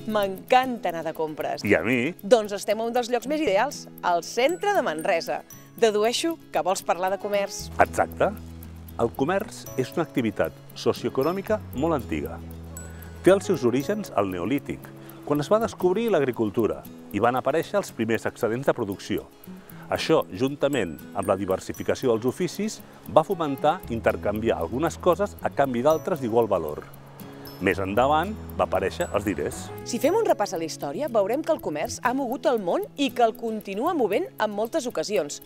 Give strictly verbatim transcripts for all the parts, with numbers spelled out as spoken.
M'encanta anar de compres. I a mi? Doncs estem a un dels llocs més ideals, al centre de Manresa. Dedueixo que vols parlar de comerç. Exacte. El comerç és una activitat socioeconòmica molt antiga. Té els seus orígens al Neolític, quan es va descobrir l'agricultura i van aparèixer els primers excedents de producció. Això, juntament amb la diversificació dels oficis, va fomentar intercanviar algunes coses a canvi d'altres d'igual valor. Més endavant va aparèixer els diners. Si fem un repàs a la història, veurem que el comerç ha mogut el món i que el continua movent en moltes ocasions.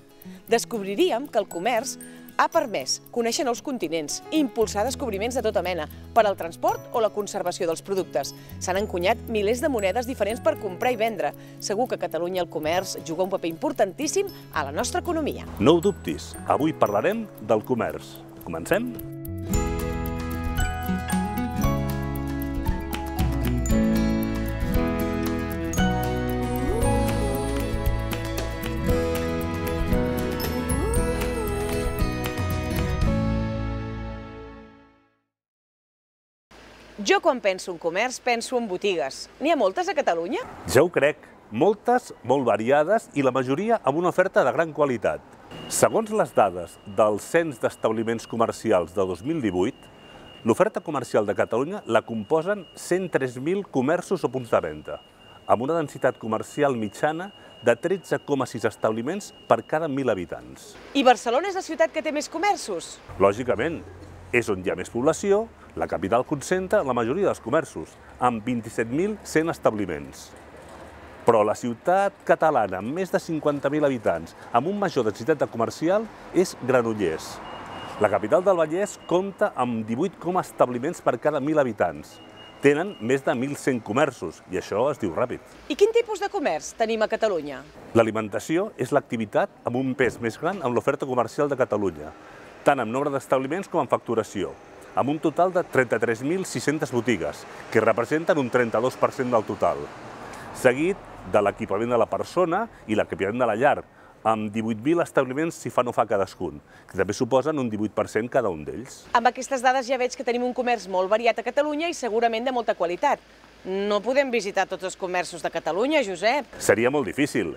Descobriríem que el comerç ha permès conèixer nous continents, impulsar descobriments de tota mena, per al transport o la conservació dels productes. S'han encunyat milers de monedes diferents per comprar i vendre. Segur que a Catalunya el comerç juga un paper importantíssim a la nostra economia. No ho dubtis, avui parlarem del comerç. Comencem? Jo, quan penso en comerç, penso en botigues. N'hi ha moltes a Catalunya? Ja ho crec. Moltes, molt variades i la majoria amb una oferta de gran qualitat. Segons les dades del Cens d'Establiments Comercials de dos mil divuit, l'oferta comercial de Catalunya la composen cent tres mil comerços o punts de venda, amb una densitat comercial mitjana de tretze coma sis establiments per cada mil habitants. I Barcelona és la ciutat que té més comerços? Lògicament, és on hi ha més població. La capital concentra la majoria dels comerços, amb vint-i-set mil cent establiments. Però la ciutat catalana, amb més de cinquanta mil habitants, amb un major densitat de comercial, és Granollers. La capital del Vallès compta amb divuit coma establiments per cada mil habitants. Tenen més de mil cent comerços, i això es diu ràpid. I quin tipus de comerç tenim a Catalunya? L'alimentació és l'activitat amb un pes més gran en l'oferta comercial de Catalunya, tant en nombre d'establiments com en facturació, amb un total de trenta-tres mil sis-centes botigues, que representen un trenta-dos per cent del total, seguit de l'equipament de la persona i l'equipament de la llar, amb divuit mil establiments si fa no fa cadascun, que també suposen un divuit per cent cada un d'ells. Amb aquestes dades ja veig que tenim un comerç molt variat a Catalunya i segurament de molta qualitat. No podem visitar tots els comerços de Catalunya, Josep. Seria molt difícil,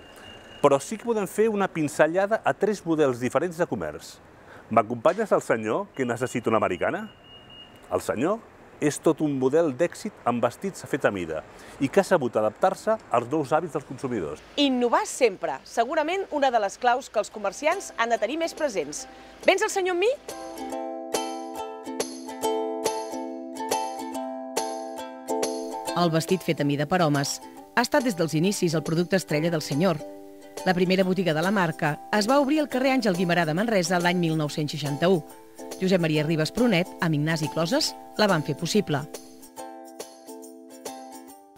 però sí que podem fer una pinzellada a tres models diferents de comerç. M'acompanyes al senyor que necessita una americana? El senyor és tot un model d'èxit amb vestits a fet a mida i que ha sabut adaptar-se als nous hàbits dels consumidors. Innovar sempre, segurament una de les claus que els comerciants han de tenir més presents. Vens el senyor amb mi? El vestit fet a mida per homes ha estat des dels inicis el producte estrella del senyor. La primera botiga de la marca es va obrir al carrer Àngel Guimerà de Manresa l'any mil nou-cents seixanta-u. Josep Maria Ribes Prunet, amb Ignasi Closes, la van fer possible.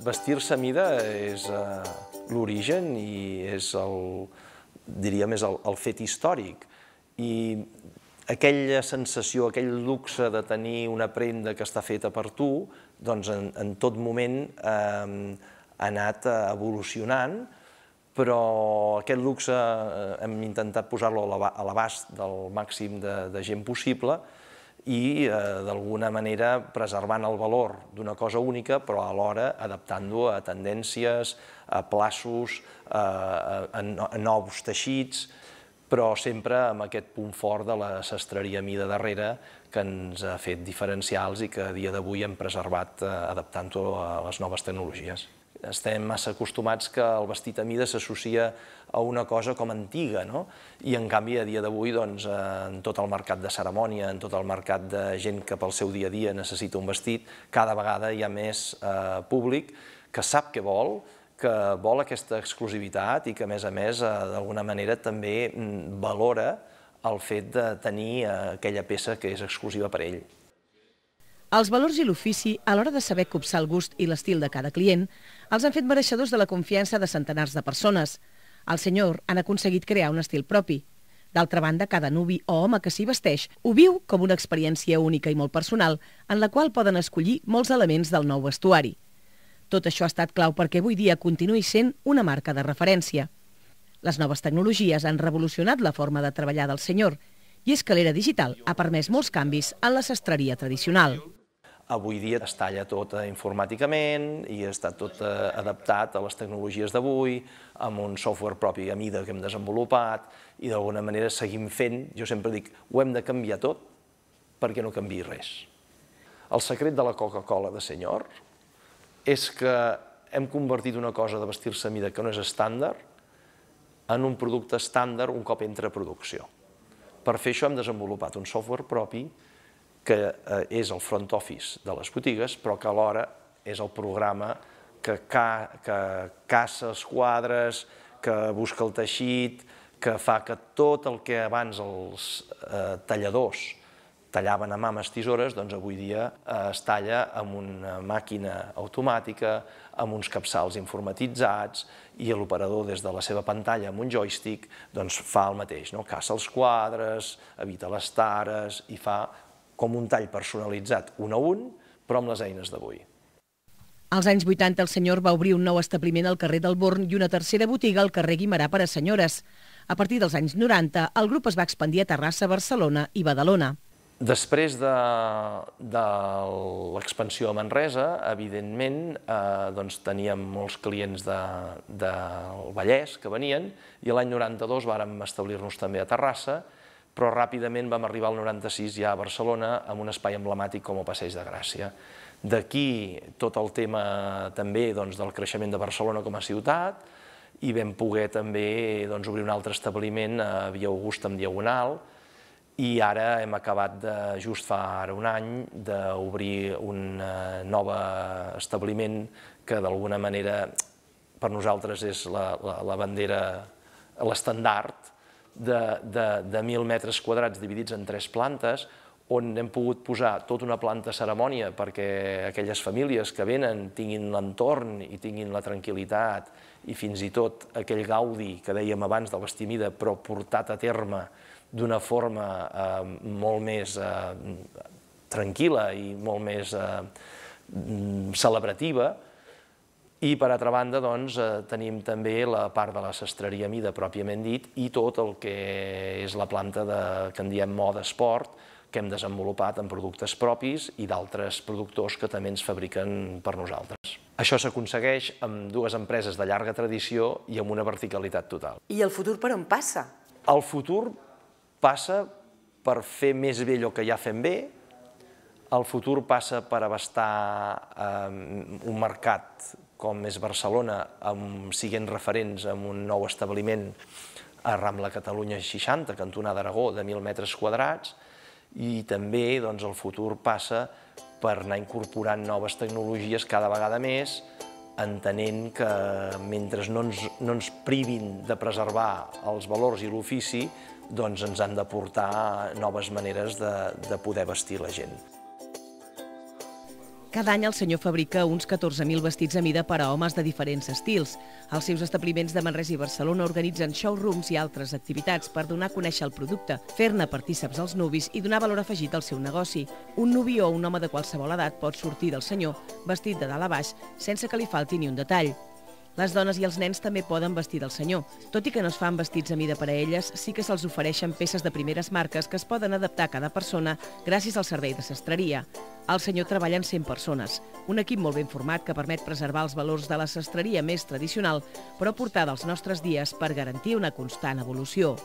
Vestir-se a mida és uh, l'origen i és el, diríem, és el, el fet històric. I aquella sensació, aquell luxe de tenir una prenda que està feta per tu, doncs en, en tot moment eh, ha anat evolucionant, però aquest luxe hem intentat posar-lo a l'abast del màxim de, de gent possible i, eh, d'alguna manera, preservant el valor d'una cosa única, però alhora adaptant-lo a tendències, a plaços, a, a, a nous teixits, però sempre amb aquest punt fort de la sastreria a mida darrere que ens ha fet diferencials i que a dia d'avui hem preservat eh, adaptant-ho a les noves tecnologies. Estem massa acostumats que el vestit a mida s'associa a una cosa com antiga, no? I en canvi a dia d'avui, doncs, en tot el mercat de cerimònia, en tot el mercat de gent que pel seu dia a dia necessita un vestit, cada vegada hi ha més eh, públic que sap què vol, que vol aquesta exclusivitat i que, a més a més, eh, d'alguna manera també valora el fet de tenir eh, aquella peça que és exclusiva per ell. Els valors i l'ofici, a l'hora de saber copsar el gust i l'estil de cada client, els han fet mereixedors de la confiança de centenars de persones. El senyor han aconseguit crear un estil propi. D'altra banda, cada nuvi o home que s'hi vesteix ho viu com una experiència única i molt personal, en la qual poden escollir molts elements del nou vestuari. Tot això ha estat clau perquè avui dia continuï sent una marca de referència. Les noves tecnologies han revolucionat la forma de treballar del senyor, i és que l'era digital ha permès molts canvis en la sastreria tradicional. Avui dia es talla tot informàticament i està tot adaptat a les tecnologies d'avui, amb un software propi a mida que hem desenvolupat i d'alguna manera seguim fent, jo sempre dic, ho hem de canviar tot perquè no canviï res. El secret de la Coca-Cola de senyor és que hem convertit una cosa de vestir-se a mida que no és estàndard en un producte estàndard un cop entra a producció. Per fer això hem desenvolupat un software propi que és el front office de les botigues, però que alhora és el programa que caça els quadres, que busca el teixit, que fa que tot el que abans els talladors tallaven a mà amb les tisores, doncs avui dia es talla amb una màquina automàtica, amb uns capçals informatitzats, i l'operador des de la seva pantalla amb un joystick fa el mateix, caça els quadres, evita les tares i fa com un tall personalitzat un a un, però amb les eines d'avui. Als anys vuitanta el senyor va obrir un nou establiment al carrer del Born i una tercera botiga al carrer Guimerà per a senyores. A partir dels anys noranta, el grup es va expandir a Terrassa, Barcelona i Badalona. Després de l'expansió a Manresa, evidentment, teníem molts clients del Vallès que venien i l'any noranta-dos vàrem establir-nos també a Terrassa, però ràpidament vam arribar al noranta-sis ja a Barcelona amb un espai emblemàtic com el Passeig de Gràcia. D'aquí tot el tema també del creixement de Barcelona com a ciutat i vam poder també obrir un altre establiment a Via Augusta amb Diagonal i ara hem acabat, just fa ara un any, d'obrir un nou establiment que d'alguna manera per nosaltres és la bandera, l'estandard de mil metres quadrats dividits en tres plantes, on hem pogut posar tota una planta cerimònia perquè aquelles famílies que venen tinguin l'entorn i tinguin la tranquil·litat i fins i tot aquell gaudi que dèiem abans de vestir a mida, però portat a terme d'una forma molt més tranquil·la i molt més celebrativa. I, per altra banda, tenim també la part de la sastreria a mida, pròpiament dit, i tot el que és la planta que en diem moda esport, que hem desenvolupat en productes propis i d'altres productors que també ens fabriquen per nosaltres. Això s'aconsegueix amb dues empreses de llarga tradició i amb una verticalitat total. I el futur per on passa? El futur passa per fer més bé allò que ja fem bé. El futur passa per abastar un mercat com és Barcelona, siguent referents en un nou establiment a Rambla Catalunya seixanta, cantonada Aragó, de mil metres quadrats, i també el futur passa per anar incorporant noves tecnologies cada vegada més, entenent que mentre no ens privin de preservar els valors i l'ofici, doncs ens han d'aportar noves maneres de poder vestir la gent. Cada any el senyor fabrica uns catorze mil vestits a mida per a homes de diferents estils. Els seus establiments de Manresa i Barcelona organitzen showrooms i altres activitats per donar a conèixer el producte, fer-ne partíceps als nuvis i donar valor afegit al seu negoci. Un nuvi o un home de qualsevol edat pot sortir del senyor vestit de dalt a baix sense que li falti ni un detall. Les dones i els nens també poden vestir del senyor. Tot i que no es fan vestits a mida per a elles, sí que se'ls ofereixen peces de primeres marques que es poden adaptar a cada persona gràcies al servei de sastreria. Al senyor treballen cent persones, un equip molt ben format que permet preservar els valors de la sastreria més tradicional, però portada als nostres dies per garantir una constant evolució.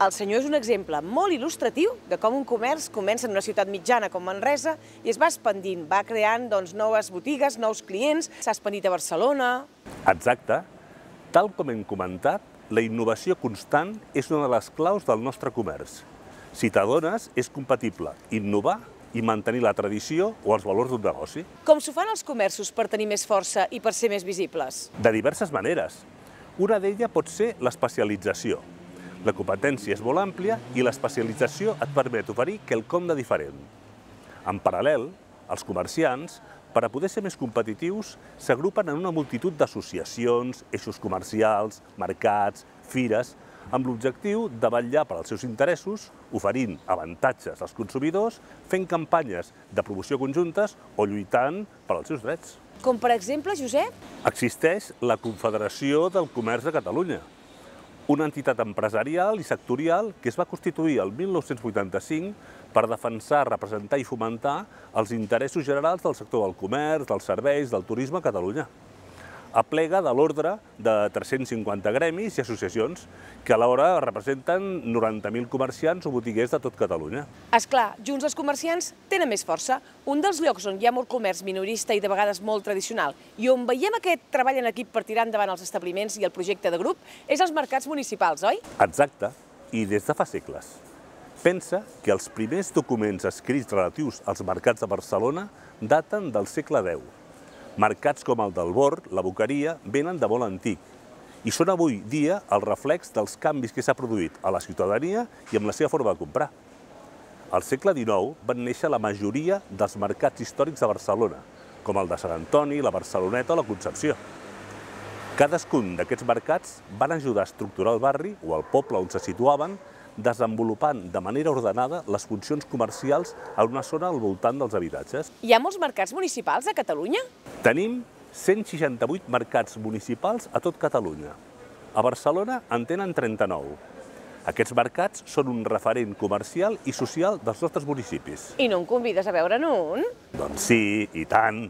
El senyor és un exemple molt il·lustratiu de com un comerç comença en una ciutat mitjana com Manresa i es va expandint, va creant noves botigues, nous clients, s'ha expandit a Barcelona. Exacte. Tal com hem comentat, la innovació constant és una de les claus del nostre comerç. Si t'adones, és compatible innovar i mantenir la tradició o els valors d'un negoci. Com s'ho fan els comerços per tenir més força i per ser més visibles? De diverses maneres. Una d'elles pot ser l'especialització. La competència és molt àmplia i l'especialització et permet oferir quelcom de diferent. En paral·lel, els comerciants per a poder ser més competitius, s'agrupen en una multitud d'associacions, eixos comercials, mercats, fires, amb l'objectiu de vetllar per als seus interessos, oferint avantatges als consumidors, fent campanyes de promoció conjuntes o lluitant per als seus drets. Com per exemple, Josep? Existeix la Confederació del Comerç de Catalunya, una entitat empresarial i sectorial que es va constituir el mil nou-cents vuitanta-cinc per defensar, representar i fomentar els interessos generals del sector del comerç, dels serveis, del turisme a Catalunya. Aplega de l'ordre de tres-cents cinquanta gremis i associacions que alhora representen noranta mil comerciants o botiguers de tot Catalunya. És clar, junts els comerciants tenen més força. Un dels llocs on hi ha molt comerç minorista i de vegades molt tradicional i on veiem aquest treball en equip per tirar endavant els establiments i el projecte de grup és els mercats municipals, oi? Exacte, i des de fa segles. Pensa que els primers documents escrits relatius als mercats de Barcelona daten del segle deu. Mercats com el del Bord, la Boqueria, venen de molt antic i són avui dia el reflex dels canvis que s'ha produït a la ciutadania i amb la seva forma de comprar. Al segle dinou van néixer la majoria dels mercats històrics de Barcelona, com el de Sant Antoni, la Barceloneta o la Concepció. Cadascun d'aquests mercats van ajudar a estructurar el barri o el poble on se situaven, desenvolupant de manera ordenada les funcions comercials en una zona al voltant dels habitatges. Hi ha molts mercats municipals a Catalunya? Tenim cent seixanta-vuit mercats municipals a tot Catalunya. A Barcelona en tenen trenta-nou. Aquests mercats són un referent comercial i social dels nostres municipis. I no em convides a veure'n un? Doncs sí, i tant.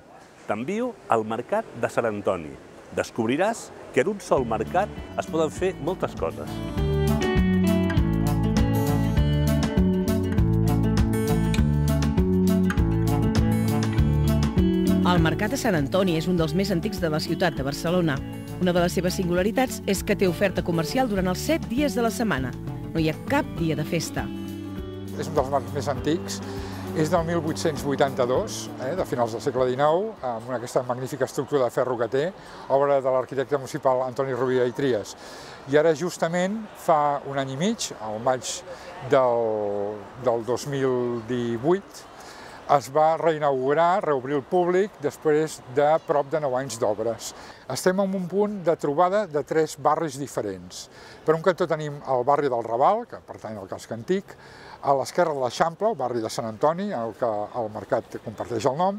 T'envio al mercat de Sant Antoni. Descobriràs que en un sol mercat es poden fer moltes coses. El Mercat de Sant Antoni és un dels més antics de la ciutat de Barcelona. Una de les seves singularitats és que té oferta comercial durant els set dies de la setmana. No hi ha cap dia de festa. És un dels mercats més antics. És del mil vuit-cents vuitanta-dos, eh, de finals del segle dinou, amb aquesta magnífica estructura de ferro que té, obra de l'arquitecte municipal Antoni Rovira i Trias. I ara, justament, fa un any i mig, al maig del, del dos mil divuit, es va reinaugurar, reobrir el públic, després de prop de nou anys d'obres. Estem en un punt de trobada de tres barris diferents. Per un cantó tenim el barri del Raval, que pertany al casc antic, a l'esquerra de l'Eixample, el barri de Sant Antoni, en el que el mercat comparteix el nom,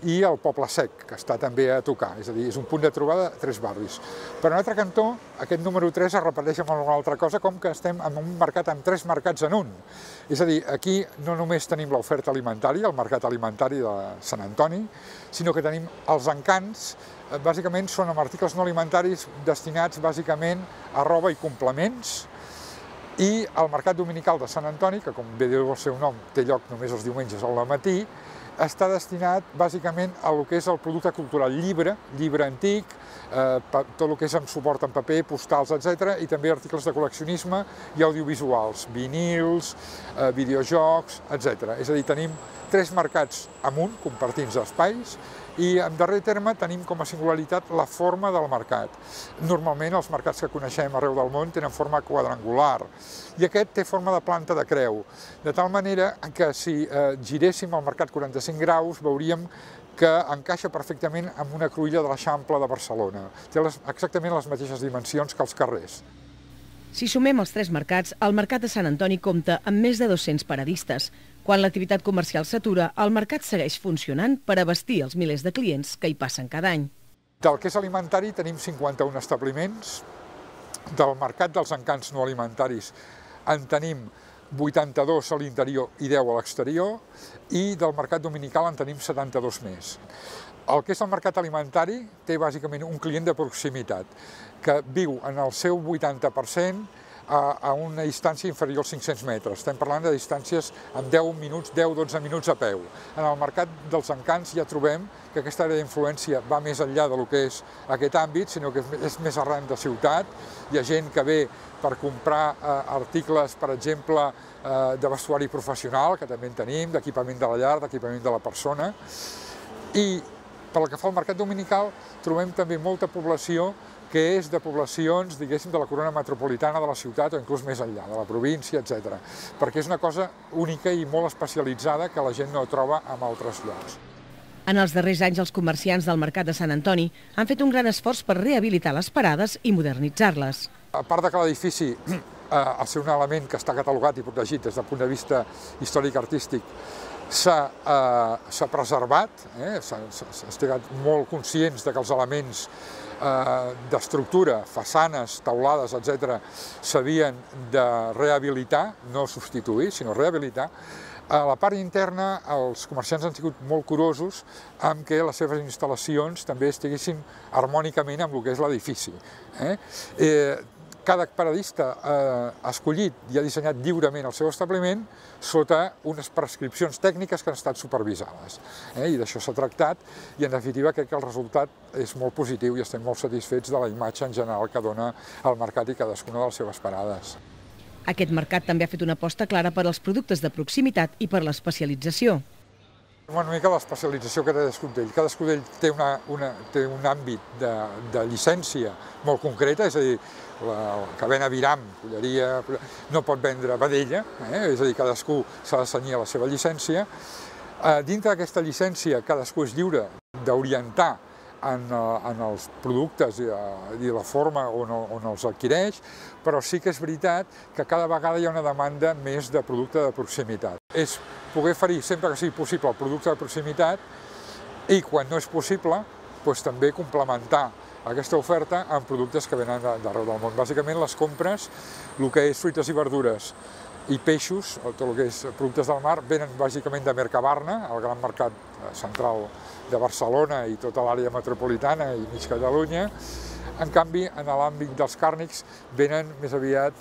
i el Poble Sec, que està també a tocar, és a dir, és un punt de trobada de tres barris. Per un altre cantó, aquest número tres es repeteix amb una altra cosa, com que estem en un mercat amb tres mercats en un. És a dir, aquí no només tenim l'oferta alimentària, el mercat alimentari de Sant Antoni, sinó que tenim els encants, bàsicament són amb articles no alimentaris destinats bàsicament a roba i complements, i el mercat dominical de Sant Antoni, que com bé diu el seu nom, té lloc només els diumenges al matí, està destinat bàsicament a lo que és el producte cultural, llibre, llibre antic, eh, tot el que és amb suport en paper, postals, etcètera, i també articles de col·leccionisme i audiovisuals, vinils, eh, videojocs, etcètera. És a dir, tenim tres mercats amunt, compartint espais, i en darrer terme tenim com a singularitat la forma del mercat. Normalment els mercats que coneixem arreu del món tenen forma quadrangular i aquest té forma de planta de creu, de tal manera que si eh, giréssim el mercat quaranta-cinc graus veuríem que encaixa perfectament amb una cruïlla de l'Eixample de Barcelona. Té les, exactament les mateixes dimensions que els carrers. Si sumem els tres mercats, el Mercat de Sant Antoni compta amb més de dos-cents paradistes. Quan l'activitat comercial s'atura, el mercat segueix funcionant per abastir els milers de clients que hi passen cada any. Del que és alimentari tenim cinquanta-un establiments, del mercat dels encants no alimentaris en tenim vuitanta-dos a l'interior i deu a l'exterior, i del mercat dominical en tenim setanta-dos més. El que és el mercat alimentari té bàsicament un client de proximitat, que viu en el seu vuitanta per cent a, a una distància inferior als cinc-cents metres. Estem parlant de distàncies amb deu minuts, deu dotze minuts a peu. En el mercat dels encants ja trobem que aquesta àrea d'influència va més enllà del que és aquest àmbit, sinó que és més arran de ciutat. Hi ha gent que ve per comprar eh, articles, per exemple, eh, de vestuari professional, que també en tenim, d'equipament de la llar, d'equipament de la persona. I pel que fa al mercat dominical, trobem també molta població que és de poblacions, diguéssim, de la corona metropolitana de la ciutat o inclús més enllà, de la província, etcètera. Perquè és una cosa única i molt especialitzada que la gent no troba en altres llocs. En els darrers anys, els comerciants del Mercat de Sant Antoni han fet un gran esforç per rehabilitar les parades i modernitzar-les. A part de que l'edifici, al ser un element que està catalogat i protegit des del punt de vista històric-artístic, s'ha preservat, estem molt conscients que els elements d'estructura, façanes, taulades, etcètera, s'havien de rehabilitar, no substituir, sinó rehabilitar. A la part interna, els comerciants han sigut molt curosos amb que les seves instal·lacions també estiguessin harmònicament amb el que és l'edifici. Cada paradista ha escollit i ha dissenyat lliurement el seu establiment sota unes prescripcions tècniques que han estat supervisades. I d'això s'ha tractat i, en definitiva, crec que el resultat és molt positiu i estem molt satisfets de la imatge en general que dona el mercat i cadascuna de les seves parades. Aquest mercat també ha fet una aposta clara per als productes de proximitat i per l'especialització. Una mica l'especialització que té cadascun d'ells. Cadascun d'ells té, una, una, té un àmbit de, de llicència molt concreta, és a dir, la cadena Viram, Culleria, no pot vendre vedella, eh? És a dir, cadascú s'ha de cenyir a la seva llicència. Eh, dintre d'aquesta llicència, cadascú és lliure d'orientar en, en els productes i, i la forma on, on els adquireix, però sí que és veritat que cada vegada hi ha una demanda més de producte de proximitat. És poder oferir sempre que sigui possible el producte de proximitat i, quan no és possible, doncs, també complementar aquesta oferta amb productes que venen d'arreu del món. Bàsicament, les compres, el que és fruites i verdures i peixos, tot el que és productes del mar, venen bàsicament de Mercabarna, el gran mercat central de Barcelona i tota l'àrea metropolitana i mig Catalunya. En canvi, en l'àmbit dels càrnics, venen més aviat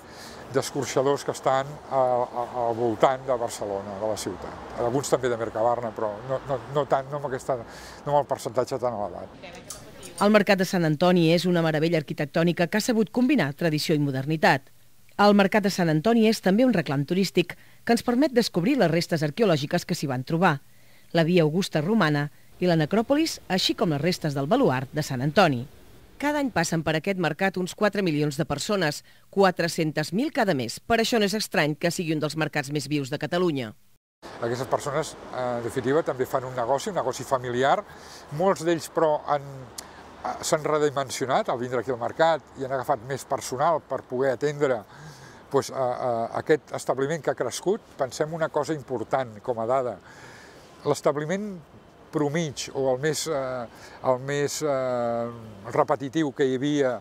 d'escorxadors que estan al voltant de Barcelona, de la ciutat. Alguns també de Mercabarna, però no, no, no, tant, no, amb aquesta, no amb el percentatge tan elevat. El Mercat de Sant Antoni és una meravella arquitectònica que ha sabut combinar tradició i modernitat. El Mercat de Sant Antoni és també un reclam turístic que ens permet descobrir les restes arqueològiques que s'hi van trobar, la via Augusta romana i la necròpolis, així com les restes del baluard de Sant Antoni. Cada any passen per aquest mercat uns quatre milions de persones, quatre-centes mil cada mes. Per això no és estrany que sigui un dels mercats més vius de Catalunya. Aquestes persones, en definitiva, també fan un negoci, un negoci familiar. Molts d'ells, però, s'han redimensionat al vindre aquí al mercat i han agafat més personal per poder atendre doncs, a, a aquest establiment que ha crescut. Pensem una cosa important com a dada. L'establiment promig o el més, eh, el més eh, repetitiu que hi havia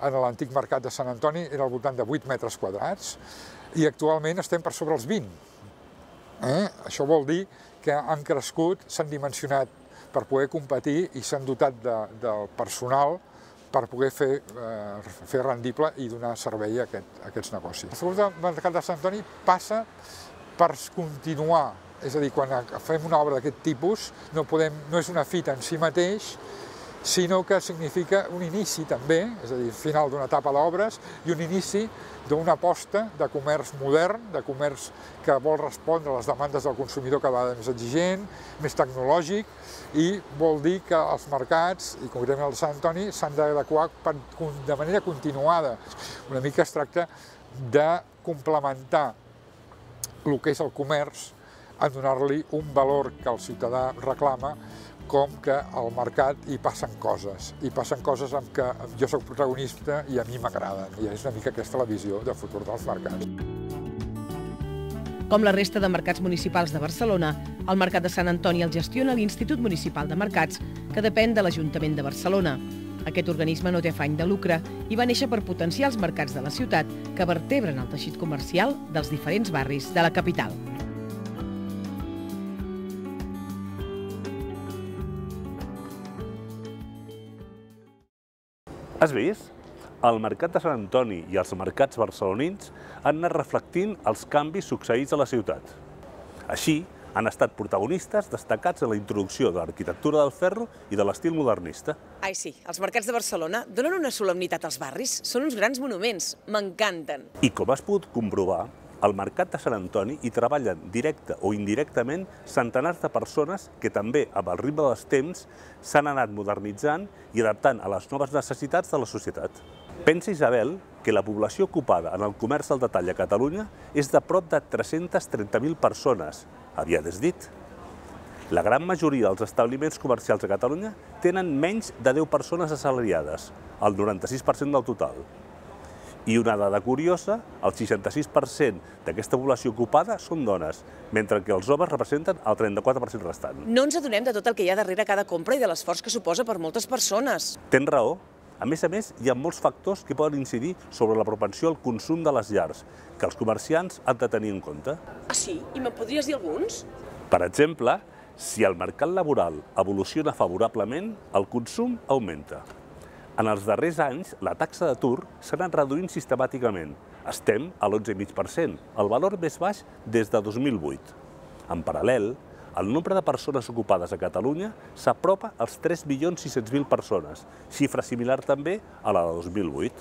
en l'antic mercat de Sant Antoni era al voltant de vuit metres quadrats i actualment estem per sobre els vint. Eh? Això vol dir que han crescut, s'han dimensionat per poder competir i s'han dotat de, del personal per poder fer, eh, fer rendible i donar servei a, aquest, a aquests negocis. El mercat de Sant Antoni passa per continuar. És a dir, quan fem una obra d'aquest tipus, no, podem, no és una fita en si mateix, sinó que significa un inici també, és a dir, final d'una etapa d'obres i un inici d'una aposta de comerç modern, de comerç que vol respondre a les demandes del consumidor cada vegada més exigent, més tecnològic, i vol dir que els mercats, i concretament el de Sant Antoni, s'han d'adequar de manera continuada. Una mica es tracta de complementar el que és el comerç a donar-li un valor que el ciutadà reclama, com que al mercat hi passen coses. Hi passen coses amb què jo soc protagonista i a mi m'agraden. I és una mica aquesta la visió de futur dels mercats. Com la resta de mercats municipals de Barcelona, el Mercat de Sant Antoni el gestiona l'Institut Municipal de Mercats, que depèn de l'Ajuntament de Barcelona. Aquest organisme no té afany de lucre i va néixer per potenciar els mercats de la ciutat que vertebren el teixit comercial dels diferents barris de la capital. Has vist? El Mercat de Sant Antoni i els mercats barcelonins han anat reflectint els canvis succeïts a la ciutat. Així, han estat protagonistes destacats en la introducció de l'arquitectura del ferro i de l'estil modernista. Ai, sí, els mercats de Barcelona donen una solemnitat als barris. Són uns grans monuments, m'encanten. I com has pogut comprovar, al Mercat de Sant Antoni hi treballen directe o indirectament centenars de persones que també, amb el ritme dels temps, s'han anat modernitzant i adaptant a les noves necessitats de la societat. Pensa, Isabel, que la població ocupada en el comerç al detall a Catalunya és de prop de tres-centes trenta mil persones. Aviat és dit. La gran majoria dels establiments comercials a Catalunya tenen menys de deu persones assalariades, el noranta-sis per cent del total. I una dada curiosa, el seixanta-sis per cent d'aquesta població ocupada són dones, mentre que els homes representen el trenta-quatre per cent restant. No ens adonem de tot el que hi ha darrere cada compra i de l'esforç que suposa per moltes persones. Tens raó. A més a més, hi ha molts factors que poden incidir sobre la propensió al consum de les llars, que els comerciants han de tenir en compte. Ah, sí? I me'n podries dir alguns? Per exemple, si el mercat laboral evoluciona favorablement, el consum augmenta. En els darrers anys, la taxa d'atur s'ha anat reduint sistemàticament. Estem a l'onze coma cinc per cent, el valor més baix des de dos mil vuit. En paral·lel, el nombre de persones ocupades a Catalunya s'apropa als tres milions sis-cents mil persones, xifra similar també a la de dos mil vuit.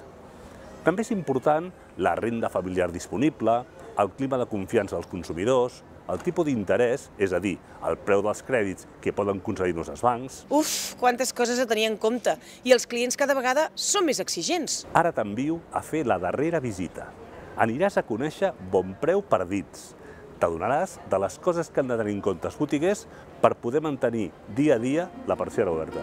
També és important la renda familiar disponible, el clima de confiança dels consumidors, el tipus d'interès, és a dir, el preu dels crèdits que poden concedir-nos els bancs. Uf, quantes coses a tenir en compte. I els clients cada vegada són més exigents. Ara t'envio a fer la darrera visita. Aniràs a conèixer Bonpreu per dins. T'adonaràs de les coses que han de tenir en compte els botiguers per poder mantenir dia a dia la persiana oberta.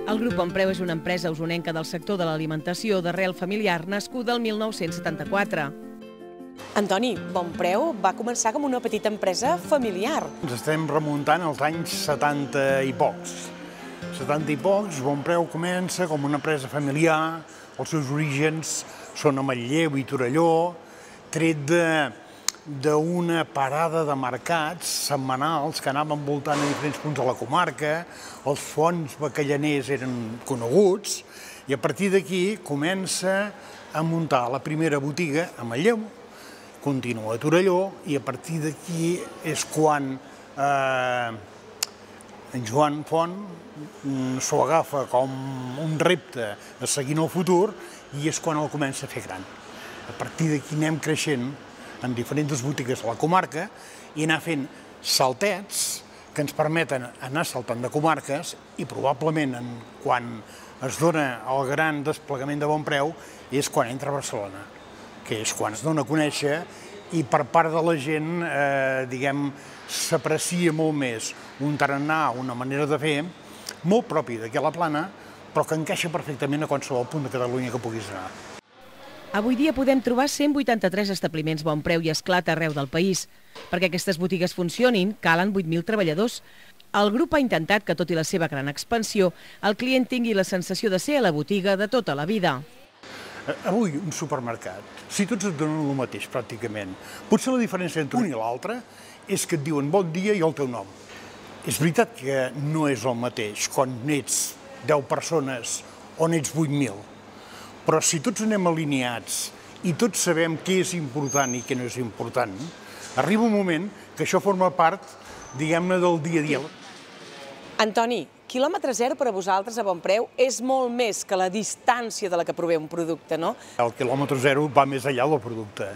El Grup Bonpreu és una empresa usonenca del sector de l'alimentació d'arrel familiar nascuda el mil nou-cents setanta-quatre. Antoni, Bonpreu va començar com una petita empresa familiar. Ens estem remuntant als anys setanta i pocs. setanta i pocs, Bonpreu comença com una empresa familiar, els seus orígens són a Manlleu i Torelló, tret d'una parada de mercats setmanals que anaven voltant a diferents punts de la comarca, els fons bacallaners eren coneguts, i a partir d'aquí comença a muntar la primera botiga a Manlleu, continua a Torelló, i a partir d'aquí és quan eh, en Joan Font s'ho agafa com un repte a seguir en el futur i és quan el comença a fer gran. A partir d'aquí anem creixent en diferents botigues a la comarca i anar fent saltets que ens permeten anar saltant de comarques i probablement quan es dona el gran desplegament de Bonpreu és quan entra a Barcelona, que és quan es dona a conèixer i per part de la gent, eh, diguem, s'aprecia molt més un tarannà, una manera de fer, molt propi d'aquí a la Plana, però que encaixa perfectament a qualsevol punt de Catalunya que puguis anar. Avui dia podem trobar cent vuitanta-tres establiments Bonpreu i Esclat arreu del país. Perquè aquestes botigues funcionin, calen vuit mil treballadors. El grup ha intentat que, tot i la seva gran expansió, el client tingui la sensació de ser a la botiga de tota la vida. Avui, un supermercat, si tots et donen el mateix, pràcticament, potser la diferència entre un i l'altre és que et diuen bon dia i el teu nom. És veritat que no és el mateix quan ets deu persones o n'ets vuit mil, però si tots anem alineats i tots sabem què és important i què no és important, arriba un moment que això forma part, diguem-ne, del dia a dia. Antoni, quilòmetre zero per a vosaltres a Bonpreu és molt més que la distància de la que prové un producte, no? El quilòmetre zero va més enllà del producte.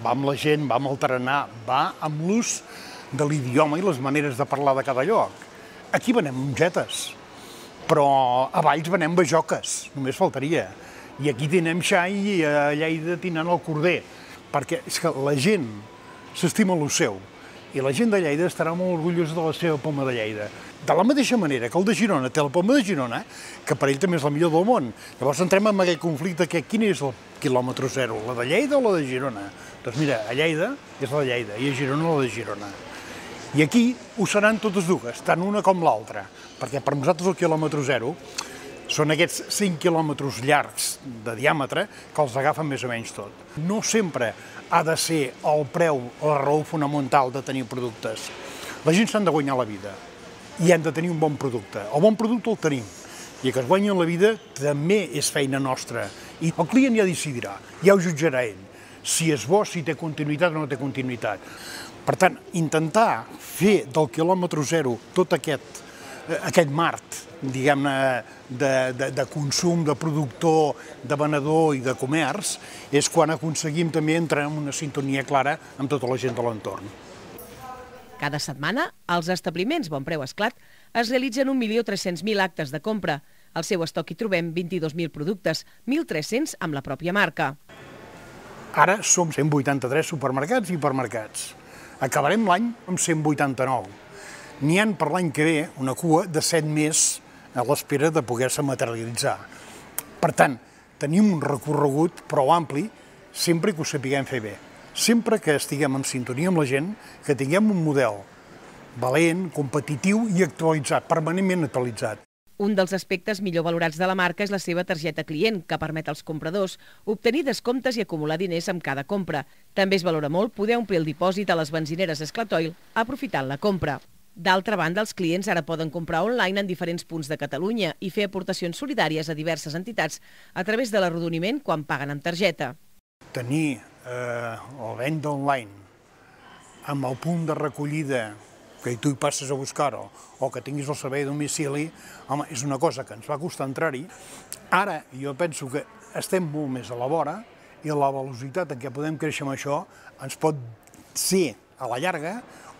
Va amb la gent, va amb el tarannà, va amb l'ús de l'idioma i les maneres de parlar de cada lloc. Aquí venem mongetes, però a Valls venem bajoques, només faltaria. I aquí tenen xai i a Lleida tenen el corder, perquè és que la gent s'estima el seu i la gent de Lleida estarà molt orgullosa de la seva poma de Lleida. De la mateixa manera que el de Girona té la poma de Girona, que per ell també és la millor del món. Llavors entrem en aquell conflicte que quin és el quilòmetre zero, la de Lleida o la de Girona? Doncs mira, a Lleida és la de Lleida i a Girona la de Girona. I aquí ho seran totes dues, tant una com l'altra, perquè per nosaltres el quilòmetre zero són aquests cinc quilòmetres llargs de diàmetre que els agafen més o menys tot. No sempre ha de ser el preu la raó fonamental de tenir productes. La gent s'han de guanyar la vida i han de tenir un bon producte. El bon producte el tenim i que es guanyin la vida també és feina nostra. I el client ja decidirà, ja ho jutjarà ell, si és bo, si té continuïtat o no té continuïtat. Per tant, intentar fer del quilòmetre zero tot aquest, aquest mart, diguem-ne, de, de, de consum, de productor, de venedor i de comerç, és quan aconseguim també entrar en una sintonia clara amb tota la gent de l'entorn. Cada setmana, als establiments Bonpreu Esclat es realitzen un milió tres-cents mil actes de compra. Al seu estoc hi trobem vint-i-dos mil productes, mil tres-cents amb la pròpia marca. Ara som cent vuitanta-tres supermercats i hipermercats. Acabarem l'any amb cent vuitanta-nou. N'hi ha per l'any que ve una cua de set més a l'espera de poder-se materialitzar. Per tant, tenim un recorregut prou ampli sempre que ho sapiguem fer bé. Sempre que estiguem en sintonia amb la gent, que tinguem un model valent, competitiu i actualitzat, permanentment actualitzat. Un dels aspectes millor valorats de la marca és la seva targeta client, que permet als compradors obtenir descomptes i acumular diners amb cada compra. També es valora molt poder omplir el dipòsit a les benzineres Esclatoil aprofitant la compra. D'altra banda, els clients ara poden comprar online en diferents punts de Catalunya i fer aportacions solidàries a diverses entitats a través de l'arrodoniment quan paguen amb targeta. Tenir eh, la venda online amb el punt de recollida que tu hi passes a buscar-ho o que tinguis el servei a domicili, home, és una cosa que ens va costar entrar-hi. Ara jo penso que estem molt més a la vora i la velocitat en què podem créixer amb això ens pot ser, a la llarga,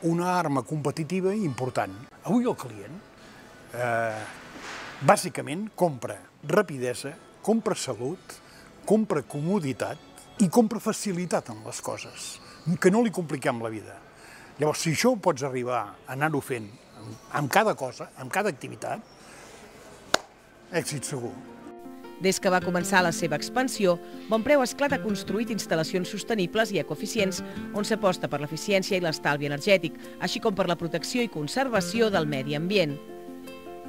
una arma competitiva important. Avui el client, eh, bàsicament, compra rapidesa, compra salut, compra comoditat i compra facilitat en les coses, que no li compliquem la vida. Llavors, si això ho pots arribar a anar-ho fent amb cada cosa, amb cada activitat, èxit segur. Des que va començar la seva expansió, Bonpreu Esclat ha construït instal·lacions sostenibles i ecoeficients on s'aposta per l'eficiència i l'estalvi energètic, així com per la protecció i conservació del medi ambient.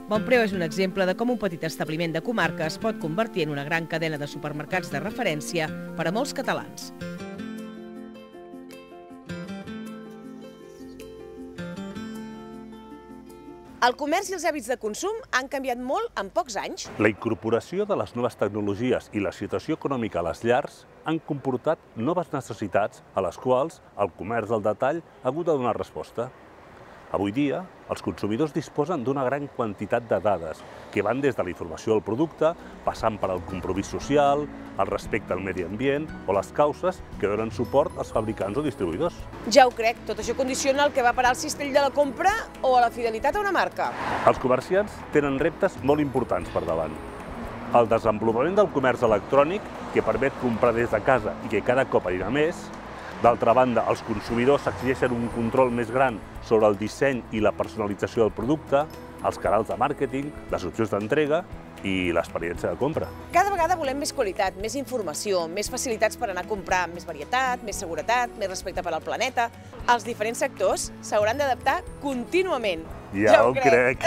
Bonpreu és un exemple de com un petit establiment de comarca es pot convertir en una gran cadena de supermercats de referència per a molts catalans. El comerç i els hàbits de consum han canviat molt en pocs anys. La incorporació de les noves tecnologies i la situació econòmica a les llars han comportat noves necessitats a les quals el comerç al detall ha hagut de donar resposta. Avui dia, els consumidors disposen d'una gran quantitat de dades que van des de la informació del producte, passant per al compromís social, el respecte al medi ambient o les causes que donen suport als fabricants o distribuïdors. Ja ho crec, tot això condiciona el que va parar al cistell de la compra o a la fidelitat a una marca. Els comerciants tenen reptes molt importants per davant. El desenvolupament del comerç electrònic, que permet comprar des de casa i que cada cop anirà més. D'altra banda, els consumidors exigeixen un control més gran sobre el disseny i la personalització del producte, els canals de màrqueting, les opcions d'entrega i l'experiència de compra. Cada vegada volem més qualitat, més informació, més facilitats per anar a comprar, més varietat, més seguretat, més respecte per al planeta. Els diferents sectors s'hauran d'adaptar contínuament. Ja ho crec.